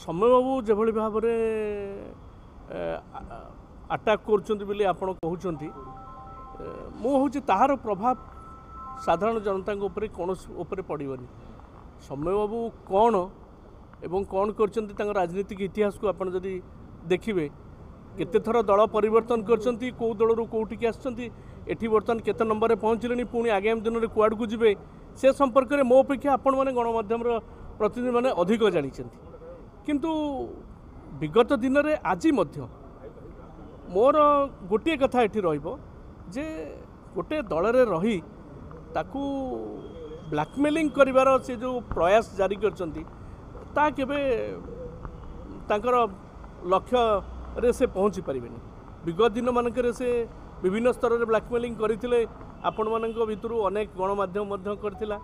ସୌମ୍ୟବାବୁ ଯେଭଳି ଭାବରେ ଆଟାକ୍ କରୁଛନ୍ତି ବୋଲି ଆପଣ କହୁଛନ୍ତି, ମୁଁ ହେଉଛି ତାହାର ପ୍ରଭାବ ସାଧାରଣ ଜନତାଙ୍କ ଉପରେ କୌଣସି ଉପରେ ପଡ଼ିବନି। ସୌମ୍ୟବାବୁ କ'ଣ ଏବଂ କ'ଣ କରିଛନ୍ତି ତାଙ୍କ ରାଜନୀତିକ ଇତିହାସକୁ ଆପଣ ଯଦି ଦେଖିବେ, କେତେଥର ଦଳ ପରିବର୍ତ୍ତନ କରିଛନ୍ତି, କେଉଁ ଦଳରୁ କେଉଁଠିକି ଆସିଛନ୍ତି, ଏଠି ବର୍ତ୍ତମାନ କେତେ ନମ୍ବରରେ ପହଞ୍ଚିଲେଣି, ପୁଣି ଆଗାମୀ ଦିନରେ କୁଆଡ଼କୁ ଯିବେ, ସେ ସମ୍ପର୍କରେ ମୋ ଅପେକ୍ଷା ଆପଣମାନେ ଗଣମାଧ୍ୟମର ପ୍ରତିନିଧିମାନେ ଅଧିକ ଜାଣିଛନ୍ତି। କିନ୍ତୁ ବିଗତ ଦିନରେ ଆଜି ମଧ୍ୟ ମୋର ଗୋଟିଏ କଥା ଏଠି ରହିବ ଯେ ଗୋଟେ ଦଳରେ ରହି ତାକୁ ବ୍ଲାକମେଲିଂ କରିବାର ସେ ଯେଉଁ ପ୍ରୟାସ ଜାରି କରିଛନ୍ତି, ତାହା କେବେ ତାଙ୍କର ଲକ୍ଷ୍ୟରେ ସେ ପହଞ୍ଚି ପାରିବେନି। ବିଗତ ଦିନମାନଙ୍କରେ ସେ ବିଭିନ୍ନ ସ୍ତରରେ ବ୍ଲାକମେଲିଂ କରିଥିଲେ, ଆପଣମାନଙ୍କ ଭିତରୁ ଅନେକ ଗଣମାଧ୍ୟମ ମଧ୍ୟ କରିଥିଲା।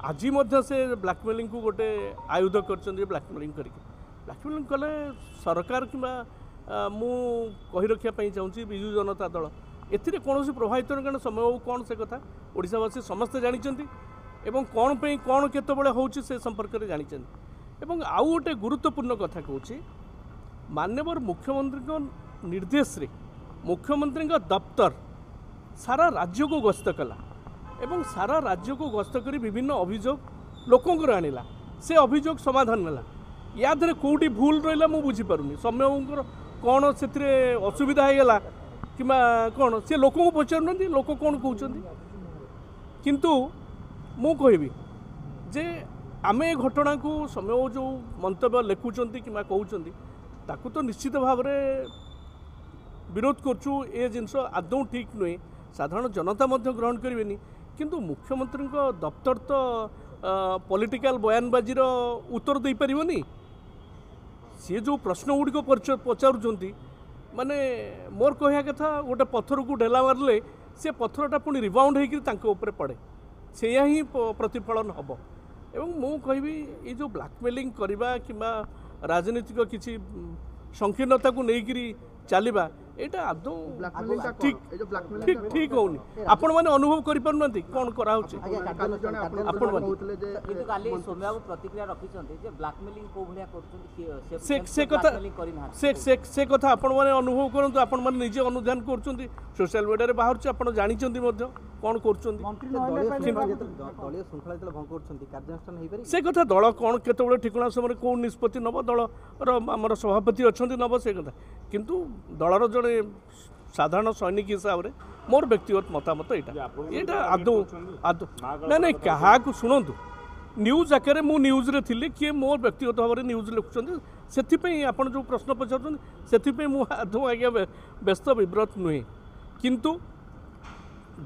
ଆଜି ମଧ୍ୟ ସେ ବ୍ଲାକମେଲିଂକୁ ଗୋଟେ ଆୟୁଧ କରିଛନ୍ତି। ବ୍ଲାକମେଲିଂ କରିକି ବ୍ଲାକମେଲିଂ କଲେ ସରକାର କିମ୍ବା ମୁଁ କହି ରଖିବା ପାଇଁ ଚାହୁଁଛି ବିଜୁ ଜନତା ଦଳ ଏଥିରେ କୌଣସି ପ୍ରଭାବିତ ନୁହେଁ। କାରଣ ସୌମ୍ୟବାବୁ କ'ଣ ସେ କଥା ଓଡ଼ିଶାବାସୀ ସମସ୍ତେ ଜାଣିଛନ୍ତି ଏବଂ କ'ଣ ପାଇଁ କ'ଣ କେତେବେଳେ ହେଉଛି ସେ ସମ୍ପର୍କରେ ଜାଣିଛନ୍ତି। ଏବଂ ଆଉ ଗୋଟେ ଗୁରୁତ୍ୱପୂର୍ଣ୍ଣ କଥା କହୁଛି, ମାନ୍ୟବର ମୁଖ୍ୟମନ୍ତ୍ରୀଙ୍କ ନିର୍ଦ୍ଦେଶରେ ମୁଖ୍ୟମନ୍ତ୍ରୀଙ୍କ ଦପ୍ତର ସାରା ରାଜ୍ୟକୁ ଗସ୍ତ କଲା ଏବଂ ସାରା ରାଜ୍ୟକୁ ଗସ୍ତ କରି ବିଭିନ୍ନ ଅଭିଯୋଗ ଲୋକଙ୍କର ଆଣିଲା, ସେ ଅଭିଯୋଗ ସମାଧାନ ହେଲା। ୟା ଦେହରେ କେଉଁଠି ଭୁଲ ରହିଲା ମୁଁ ବୁଝିପାରୁନି। ସୌମ୍ୟବାବୁଙ୍କର କ'ଣ ସେଥିରେ ଅସୁବିଧା ହେଇଗଲା କିମ୍ବା କ'ଣ, ସେ ଲୋକଙ୍କୁ ପଚାରୁନାହାନ୍ତି ଲୋକ କ'ଣ କହୁଛନ୍ତି। କିନ୍ତୁ ମୁଁ କହିବି ଯେ ଆମେ ଏ ଘଟଣାକୁ ସୌମ୍ୟବାବୁ ଯେଉଁ ମନ୍ତବ୍ୟ ଲେଖୁଛନ୍ତି କିମ୍ବା କହୁଛନ୍ତି ତାକୁ ତ ନିଶ୍ଚିତ ଭାବରେ ବିରୋଧ କରୁଛୁ। ଏ ଜିନିଷ ଆଦୌ ଠିକ୍ ନୁହେଁ, ସାଧାରଣ ଜନତା ମଧ୍ୟ ଗ୍ରହଣ କରିବେନି। କିନ୍ତୁ ମୁଖ୍ୟମନ୍ତ୍ରୀଙ୍କ ଦପ୍ତର ତ ପଲିଟିକାଲ ବୟାନବାଜିର ଉତ୍ତର ଦେଇପାରିବନି। ସିଏ ଯେଉଁ ପ୍ରଶ୍ନ ଗୁଡ଼ିକ ପଚାରୁଛନ୍ତି, ମାନେ ମୋର କହିବା କଥା ଗୋଟେ ପଥରକୁ ଢେଲା ମାରିଲେ ସେ ପଥରଟା ପୁଣି ରିବାଉଣ୍ଡ ହେଇକରି ତାଙ୍କ ଉପରେ ପଡ଼େ, ସେଇଆ ହିଁ ପ୍ରତିଫଳନ ହେବ। ଏବଂ ମୁଁ କହିବି ଏଇ ଯେଉଁ ବ୍ଲାକମେଲିଂ କରିବା କିମ୍ବା ରାଜନୈତିକ କିଛି ସଂକୀର୍ଣ୍ଣତାକୁ ନେଇକରି ଚାଲିବା, ଏଇଟା ଆଦୌ ଠିକ୍ ଠିକ୍ ଠିକ୍ ହେଉନି। ଆପଣମାନେ ଅନୁଭବ କରିପାରୁନାହାନ୍ତି କ'ଣ କରାହେଉଛି। ଆପଣମାନେ ସେ କଥା ଆପଣମାନେ ଅନୁଭବ କରନ୍ତୁ, ଆପଣମାନେ ନିଜେ ଅନୁଧ୍ୟାନ କରୁଛନ୍ତି, ସୋସିଆଲ ମିଡ଼ିଆରେ ବାହାରୁଛି, ଆପଣ ଜାଣିଛନ୍ତି ମଧ୍ୟ କ'ଣ କରୁଛନ୍ତି। ସେ କଥା ଦଳ କ'ଣ କେତେବେଳେ ଠିକଣା ସମୟରେ କେଉଁ ନିଷ୍ପତ୍ତି ନେବ, ଦଳର ଆମର ସଭାପତି ଅଛନ୍ତି ନେବ ସେ କଥା। କିନ୍ତୁ ଦଳର ଜଣେ ସାଧାରଣ ସୈନିକ ହିସାବରେ ମୋର ବ୍ୟକ୍ତିଗତ ମତାମତ ଏଇଟା ଏଇଟା ଆଦୌ ଆଦୌ ନାଇଁ ନାଇଁ କାହାକୁ ଶୁଣନ୍ତୁ, ନ୍ୟୁଜ୍ ଆକାରରେ ମୁଁ ନ୍ୟୁଜ୍ରେ ଥିଲି, କିଏ ମୋର ବ୍ୟକ୍ତିଗତ ଭାବରେ ନ୍ୟୁଜ୍ ଲେଖୁଛନ୍ତି, ସେଥିପାଇଁ ଆପଣ ଯେଉଁ ପ୍ରଶ୍ନ ପଚାରୁଛନ୍ତି ସେଥିପାଇଁ ମୁଁ ଆଦୌ ଆଜ୍ଞା ବ୍ୟସ୍ତ ବିବ୍ରତ ନୁହେଁ। କିନ୍ତୁ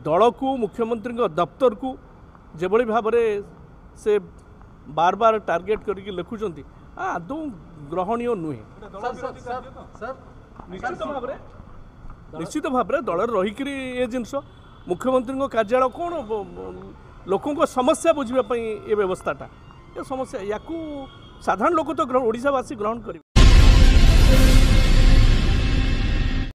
ଦଳକୁ ମୁଖ୍ୟମନ୍ତ୍ରୀଙ୍କ ଦପ୍ତରକୁ ଯେଭଳି ଭାବରେ ସେ ବାର ବାର ଟାର୍ଗେଟ୍ କରିକି ଲେଖୁଛନ୍ତି ଆଦୌ ଗ୍ରହଣୀୟ ନୁହେଁ। ନିଶ୍ଚିତ ଭାବରେ ଦଳରେ ରହିକରି ଏ ଜିନିଷ ମୁଖ୍ୟମନ୍ତ୍ରୀଙ୍କ କାର୍ଯ୍ୟାଳୟ କ'ଣ ଲୋକଙ୍କ ସମସ୍ୟା ବୁଝିବା ପାଇଁ ଏ ବ୍ୟବସ୍ଥାଟା, ଏ ସମସ୍ୟା ୟାକୁ ସାଧାରଣ ଲୋକ ତ ଓଡ଼ିଶାବାସୀ ଗ୍ରହଣ କରିବେ।